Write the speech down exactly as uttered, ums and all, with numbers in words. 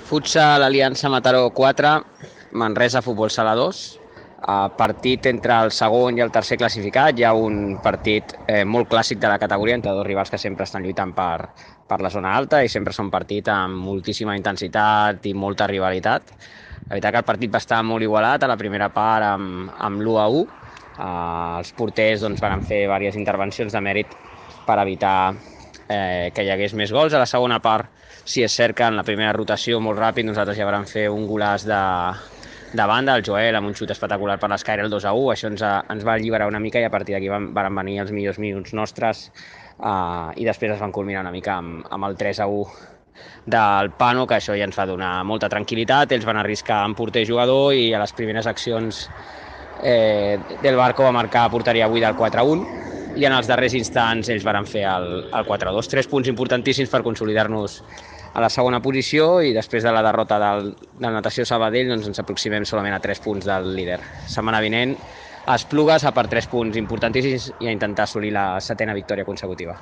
Futsal Aliança Mataró quatre, Manresa Futbol Sala dos. Uh, partit entre el segon i el tercer classificat. Hi ha un partit eh, molt clàssic de la categoria entre dos rivals que sempre estan lluitant per, per la zona alta i sempre són partit amb moltíssima intensitat i molta rivalitat. La veritat que el partit va estar molt igualat a la primera part amb, amb l'u a u. Uh, els porters doncs, van fer diverses intervencions de mèrit per evitar eh, que hi hagués més gols. A la segona part, si és cert que en la primera rotació molt ràpid nosaltres ja vam fer un golaç de, de banda, el Joel amb un xut espectacular per l'esquerra, el dos a u, això ens, ens va alliberar una mica i a partir d'aquí van, van venir els millors minuts nostres uh, i després es van culminar una mica amb, amb el tres a u del Pano, que això ja ens va donar molta tranquil·litat. Ells van arriscar en porter jugador i a les primeres accions eh, del Barco va marcar porteria avui del quatre a un i en els darrers instants ells van fer el, el quatre a dos. Tres punts importantíssims per consolidar-nos a la segona posició i després de la derrota del, del Natació Sabadell doncs ens aproximem solament a tres punts del líder. Setmana vinent a Esplugues a per tres punts importantíssims i a intentar assolir la setena victòria consecutiva.